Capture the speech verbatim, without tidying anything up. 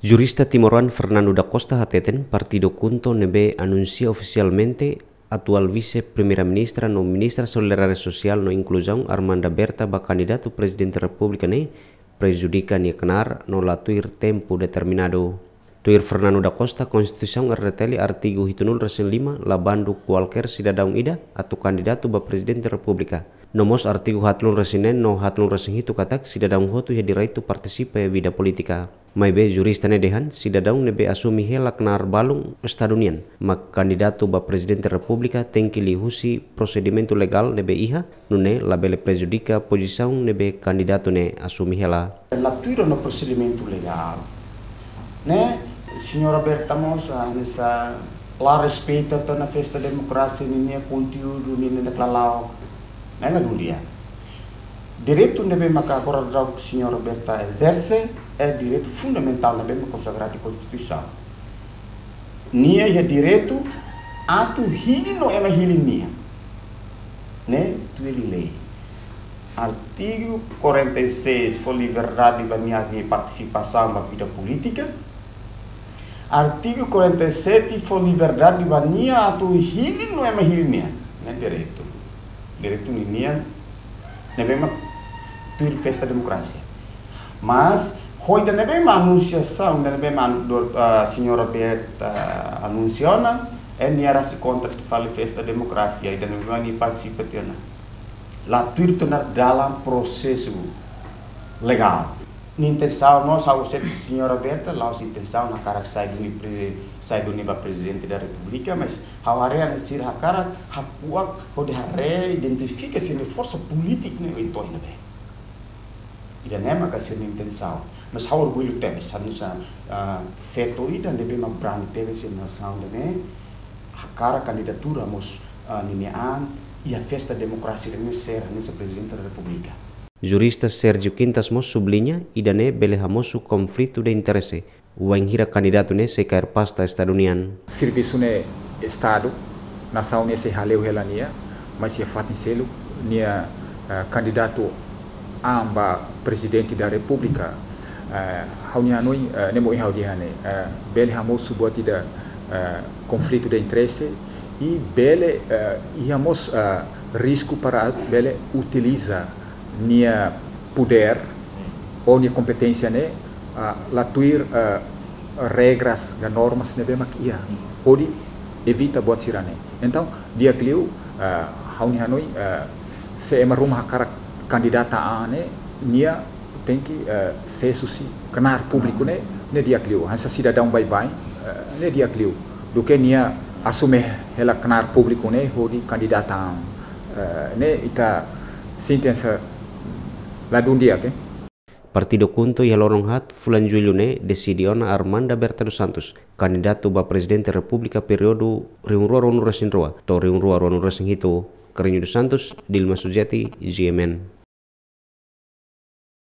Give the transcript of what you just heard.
Jurista timoroan Fernando da Costa hateten partidu KHUNTO ne'ebé anunsia ofisialmente atuál Vise-Primeira-Ministra no Ministra Solidariedade Sosiál no Inkluzaun Armanda Berta ba kandidatu Prezidente Repúblika ne'e prejudika nia knaar no la tuir tempu determinadu. Tuir Fernando da Costa, Konstituisaun R D T L artigu hitunulu resin lima la bandu kualkér sidadaun ida atu kandidatu ba Prezidente Repúblika. No mós artigu hatlun resin neen no hatlun resin hitu katak sidadaun hotu iha direitu partisipa iha vida polítika. Maibé jurista ne'e dehan, sidadaun ne'ebé asume hela knaar balun Estadu nian mak kandidatu ba Prezidente Repúblika tenke liuhusi prosedimentu legál ne'ebé iha, nune'e labele prejudika pozisaun ne'ebé kandidatu ne'e asume hela. La tuir ona prosedimentu legál, ne'e, señora Berta mós, ah, hanesan la respeita tiha ona festa demokrasia ninia konteúdu, ninia deklarau. Ne'e la dún di'ak. Direitu ne'ebé maka agora daudaun señora Berta ezerse, é direitu fundamentál ne'ebé maka konsagradu iha Konstituisaun. Nia iha direitu atu hili no ema hili nia, ne'e tuir lei. Artigu quarenta e seis fó liberdade ba nia, nia partisipasaun ba vida polítika. Artigu quarenta e sete fó liberdade ba nia atu hili no ema hili nia, ne'e direitu. Direitu ninian ne'ebé mak tuir festa demokrasia. Mas, ho ida ne'ebé mak anunciasaun, ida ne'ebé mak, ah, señora Berta, ah, anunsia ona, é nia rasik kontra fali festa demokrasia, ida ne'ebé mak nia partisipa tiha ona. La tuir tiha ona dalan prosesu legál. Nia intensaun, no, ha'u sente señora Berta, la'ós intensaun hakarak sai duni pre-, sai duni ba Prezidente da Repúblika, mas ha'u haree hanesan sira hakarak hakuak hodi haree, identifika sira-nia forsa polítika ne'e oituan ne'ebé. Ida-ne'e maka sira-nia intensaun. Mas ha'u orgullu tebes, hanesan, ah, feto ida ne'ebé mak brani tebes iha nasaun ida-ne'e, hakarak kandidatura mós, ah, ninia an iha festa demokrasia ida-ne'e, ser hanesan Prezidente da Repúblika. Jurista Sérgio Quintas mós subliña, ida-ne'e bele hamosu konflitu de interese, wainhira kandidatu ne'e sei kaer pasta Estadu nian. Servisu ne'e Estadu, nasaun ne'e sei hale'u hela nia, mas iha fatin seluk nia, eh, kandidatu an ba Prezidente da Repúblika, eh, ha'u-nia hanoin, eh, ne'e mak ohin ha'u dehan ne'e, eh, bele hamosu buat ida, eh, konflitu de interese, i bele, eh, iha mós, eh, risku para bele utiliza nia podér ou nia kompeténsia ne'e, ah, la tuir, ah, regras ka normas ne'ebé mak iha, hodi evita buat sira-ne'e. Entaun, di'ak liu, ah, ha'u-nia hanoin, ah, se ema ruma hakarak kandidata an ne'e, nia tenke, ah, sees husi knaar públiku ne'e, ne'e di'ak liu. Hanesan sidadaun baibain, ah, ne'e di'ak liu. Duké nia asume hela knaar públiku ne'e hodi kandidata an. Ah, ne'e ita sente hanesan la dún di'ak, eh. Partidu KHUNTO iha loron haat fulan Jullu ne'e deside ona Armanda Berta dos Santos kandidatu ba Prezidente Repúblika períodu rihun rua ruanulu resin rua to'o rihun rua ruanulu resin hitu. Carreño dos Santos, Dilma Sujati, G M N.